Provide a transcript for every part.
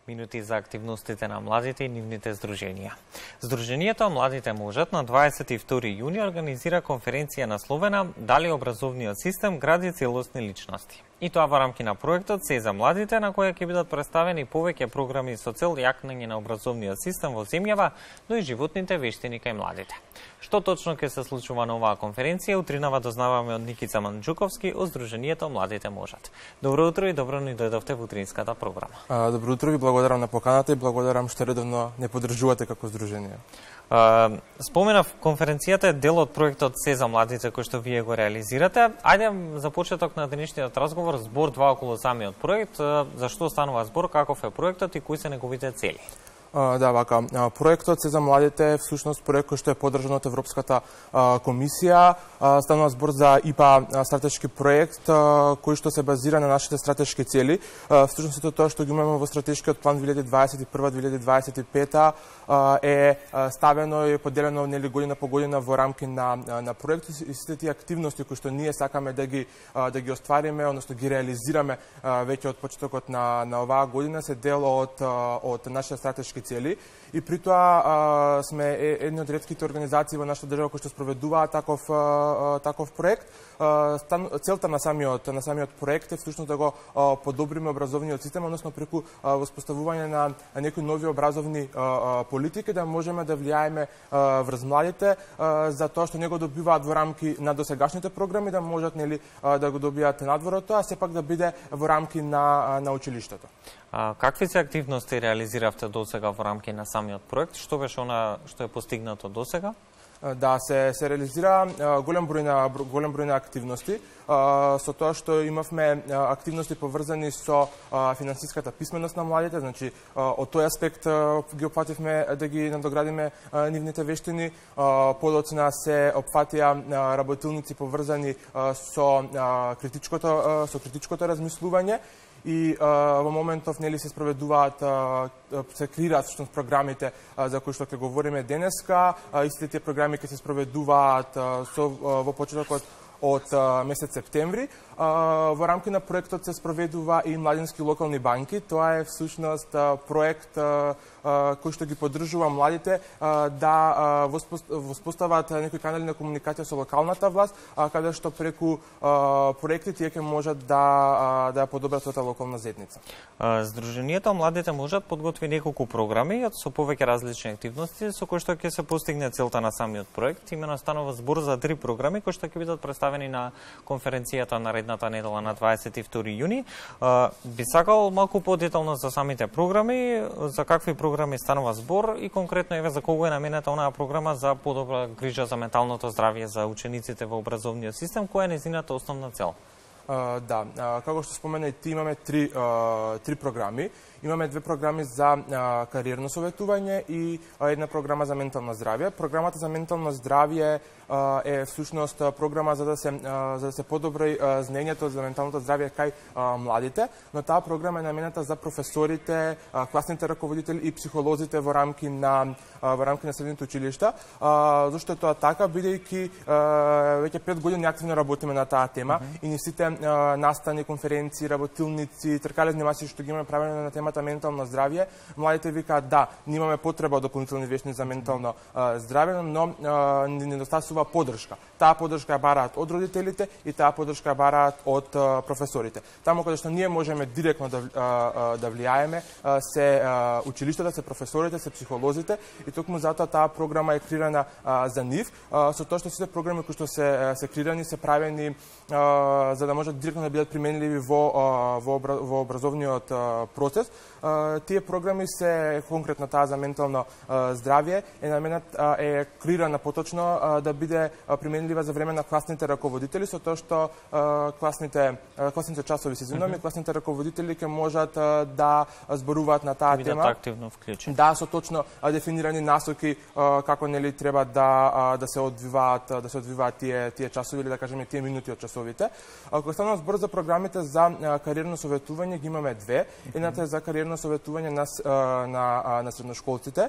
Минути за активностите на младите и нивните здруженија. Здруженијето Младите можат на 22 јуни организира конференција насловена Дали образовниот систем гради целосни личности. И тоа во рамки на проектот Се за младите, на која ќе бидат представени повеќе програми со цел јакнење на образовниот систем во земјава, но и животните вештини кај младите. Што точно ќе се случува на оваа конференција, утринава дознаваме од Никица Манџуковски од Здруженијето Младите можат. Добро утро и добро ни дојдовте во утринската програма. Добро утро, ви благодарам на поканата и благодарам што редовно не поддржувате како здружение. Споменав, конференцијата е дел од проектот Се за младите кој што вие го реализирате. Ајде за почеток на денешниот разговор збор два околу самиот проект, зашто станува збор, каков е проектот и кои се неговите цели. Да, вака. Проектот Се за младите е всушност проект кој што е поддржан од Европската комисија. Станува збор за ИПА стратешки проект кој што се базира на нашите стратешки цели. Всушност тоа што ги имаме во стратешкиот план 2021-2025 е ставено и поделено нели година по година во рамки на проекти и сите тие активности кои што ние сакаме да ги оствариме, односно ги реализираме веќе од почетокот на оваа година се дел од нашите стратешки цели и при тоа сме едни од ретките организации во нашата држава кои што спроведуваат таков проект. Целта на самиот проект е всушност да го подобриме образовниот систем, односно преку воспоставување на некои нови образовни политики да можеме да влијаеме врз младите за тоа што не го добиваат во рамки на досегашните програми да можат нели да го добијат надвор од тоа, сепак да биде во рамки на училиштето. Какви се активности реализиравте досега во рамки на самиот проект? Што беше она што е постигнато досега? Да, се реализира голем број на активности, со тоа што имавме активности поврзани со финансиската писменост на младите, значи од тој аспект ги опфативме да ги надоградиме нивните вештини, подоцна се опфатија работилници поврзани со критичкото размислување, и во моментов нели се спроведуваат се креираат всушност програмите за кои што ќе говориме денеска. Истите тие програми ќе се спроведуваат во почетокот од месец септември. Во рамки на проектот се спроведува и младински локални банки. Тоа е всушност проект кој што ги поддржува младите да воспостават некои канали на комуникација со локалната власт, каде што преку проекти тие ќе можат да подобрат својата локална заедница. Здруженијето Младите можат подготви неколку програми со повеќе различни активности со кои што ќе се постигне целта на самиот проект. Имено станува збор за 3 програми кои што ќе бидат представени на конференцијата наредната недела на 22 јуни. Би сакал малку подетално за самите програми, за какви програми станува збор и конкретно еве за кого е наменета онаа програма за подобра грижа за менталното здравје за учениците во образовниот систем, која е нејзината основна цел? Да, како што спомена и ти, имаме три програми. Имаме 2 програми за кариерно советување и една програма за ментално здравје. Програмата за ментално здравје е всушност програма за да се подобри знаењето за менталното здравје кај младите, но таа програма е наменета за професорите, класните раководители и психолозите во рамки на средните училишта. Зошто е тоа така, бидејќи веќе 5 години активно работиме на таа тема и ни сите настани, конференции, работилници, тркалезни маси што ги имаме правено на темата ментално здравје, младите викаат да, имаме потреба од дополнителни вештини за ментално здравје, но ни недостасува поддршка. Таа поддршка ја бараат од родителите и таа поддршка ја бараат од професорите. Таму каде што ние можеме директно да влијаеме се училиштата, се професорите, се психолозите и токму затоа таа програма е креирана за нив, со тоа што сите програми кои што се креирани се правени за да можат директно да бидат применливи во образовниот процес. Тие програми се конкретно таа за ментално здравје е креирана поточно да биде применлива за време на класните раководители, со тоа што класните часови се извинуваме, класните раководители ќе можат да зборуваат на таа тема. Бидат активно вклучени. Да, со точно дефинирани насоки како нели треба да се одвиваат тие часови или да кажеме тие минути од часовите. Кога станува збор за програмите за кариерно советување, ги имаме две. Едната е за кариерно советување на средношколците.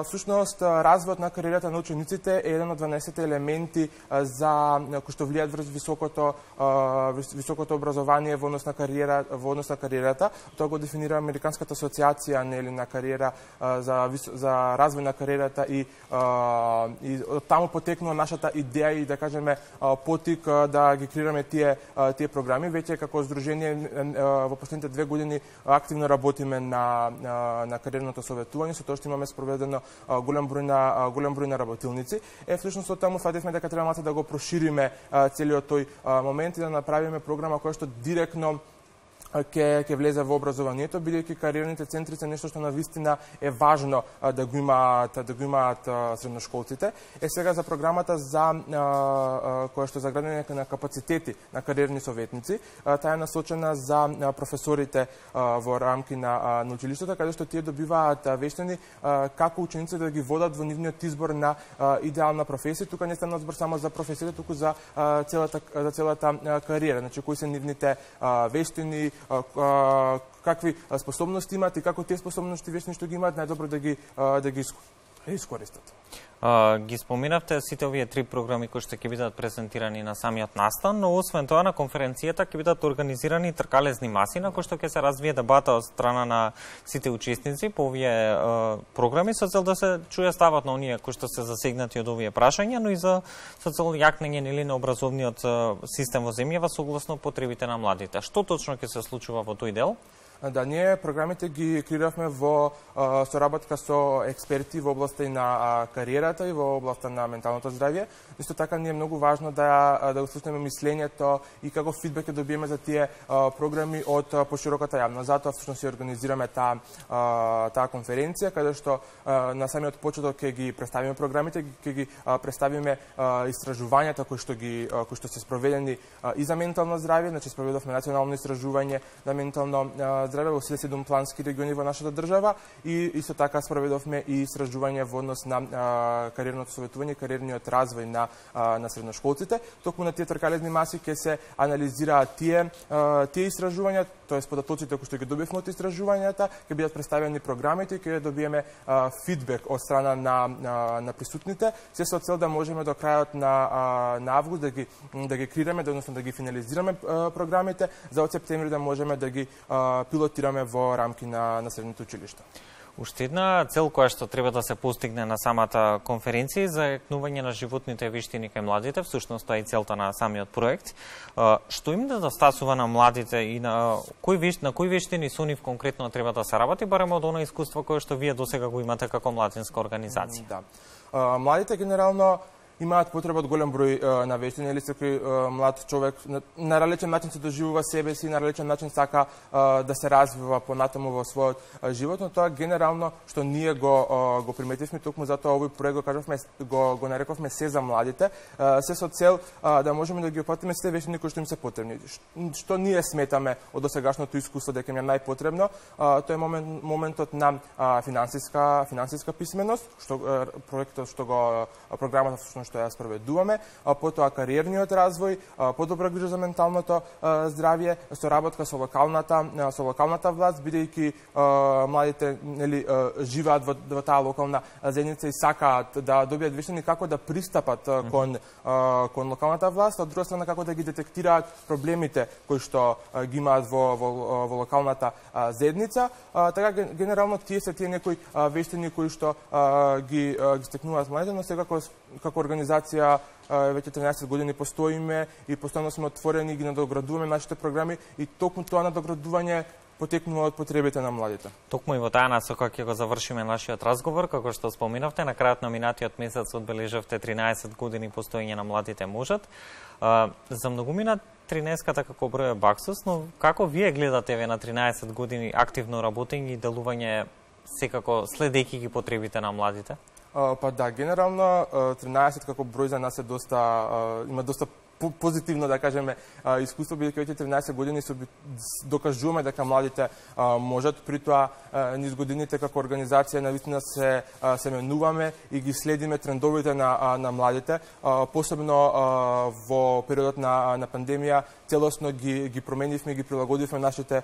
Всушност, развојот на кариерата на учениците е еден од 12 елементи за кои што влијаат врз високото образование во однос на кариерата. Тоа го дефинира Американската асоциација на кариера за развој на кариерата и од таму потекнува нашата идеја и да кажеме потик да ги креираме тие програми. Веќе како здружение во последните 2 години активно работиме на кариерното советување, со тоа што имаме спроведено голем број на работилници. Всушност од таму фативме дека треба малку да го прошириме целиот тој момент и да направиме програма која што директно ќе влезе во образованието, бидејќи кариерните центри се нешто што навистина е важно да го имаат средношколците. Сега за програмата за која што е за градење на капацитети на кариерни советници, таа е насочена за професорите во рамки на училиштата, каде што тие добиваат вештини како учениците да ги водат во нивниот избор на идеална професија. Тука не стана збор само за професијата, туку за целата кариера. Значи, кои се нивните вештини, какви способности имаат и како тие способности вештини што ги имаат најдобро да ги искористат. Ги споминавте сите овие 3 програми кои што ќе бидат презентирани на самиот настан, но освен тоа на конференцијата ќе бидат организирани тркалезни маси на кои што ќе се развие дебата од страна на сите учесници по овие програми со цел да се чуе ставот на оние кои што се засегнати од овие прашања, но и со цел јакнење на образовниот систем во земјава согласно потребите на младите. Што точно ќе се случува во тој дел? Да, ние програмите ги креиравме во соработка со експерти во областа и на кариерата и во областа на менталното здравје. Исто така ни е многу важно да го слушнеме мислењето и како фидбек ќе добиеме за тие програми од пошироката јавност. Затоа всушност си организираме таа конференција каде што на самиот почеток ќе ги представиме програмите, ќе ги представиме истражувањата кои што се спроведени и за ментално здравје, значи спроведовме национално истражување на ментално здравје во 7 плански региони во нашата држава и исто така спроведовме и истражување во однос на кариерното советување и кариерниот развој на средношколците. Токму на тие тркалезни маси ќе се анализираат тие истражувања, тоест податоците кои што ги добивме од истражувањата, ќе бидат представени програмите и ќе добиеме фидбек од страна на присутните, се со цел да можеме до крајот на август да ги креираме, односно да ги финализираме програмите, за од септември да можеме да ги пилотираме во рамки на средните училишта. Уште една цел која што треба да се постигне на самата конференција за јакнување на животните вештини кај младите, всушност тоа е целта на самиот проект. Што им недостасува на младите и на кои вештини со нив конкретно треба да се работи, барем од она искуство кое што вие досега го имате како младинска организација? Да. Младите генерално имаат потреба од голем број на вештини, или секој млад човек на различен начин се доживува себе си, на различен начин сака да се развива понатаму во својот живот, но тоа генерално што ние го приметивме, токму затоа овој проект го нарековме се за младите, се со цел да можеме да ги опатиме сите вештини кои што им се потребни. Што ние сметаме од досегашното искуство дека им е најпотребно, тоа е моментот на финансиска писменост, што проектот програмата што ја спроведуваме, потоа кариерниот развој, подобра грижа за менталното здравје, соработка со локалната власт, бидејќи младите живеат во таа локална заедница и сакаат да добијат вештини како да пристапат кон локалната власт, од друга страна како да ги детектираат проблемите кои што ги имаат во локалната заедница. Така генерално тие се некои вештини кои што ги стекнуваат младите, но сега како организација веќе 13 години постоиме и постојано сме отворени и ги надоградуваме нашите програми и токму тоа надоградување потекнува од потребите на младите. Токму и во таа насока ќе го завршиме нашиот разговор, како што споминавте, на крајот на минатиот месец одбележавте 13 години постоење на Младите можат. За многумина 13-ката како број е баксус, но како вие гледате на 13 години активно работење и делување секако следејќи ги потребите на младите? Па да, генерално 13 како број за нас е има доста позитивно да кажеме искуство, бидејќи веќе 13 години докажуваме дека младите можат, при тоа низ годините како организација навистина се менуваме и ги следиме трендовите на младите, посебно во периодот на пандемија целосно ги променивме, ги прилагодивме нашите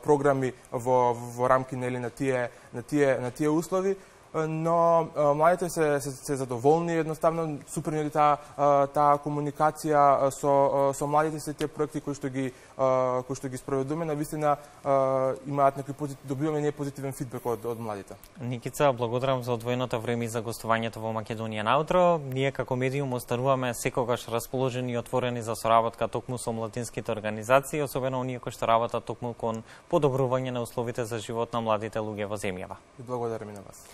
програми во рамки на тие услови, но младите се задоволни, едноставно супер ни таа комуникација со младите, се тие проекти кои што ги спроведуваме, навистина имаат добиваме ние позитивен фидбек од младите. Никица, благодарам за одвоеното време и за гостувањето во Македонија на утро. Ние како медиум остануваме секогаш расположени и отворени за соработка токму со младинските организации, особено оние кои што работат токму кон подобрување на условите за живот на младите луѓе во земјава. И благодарам и на вас.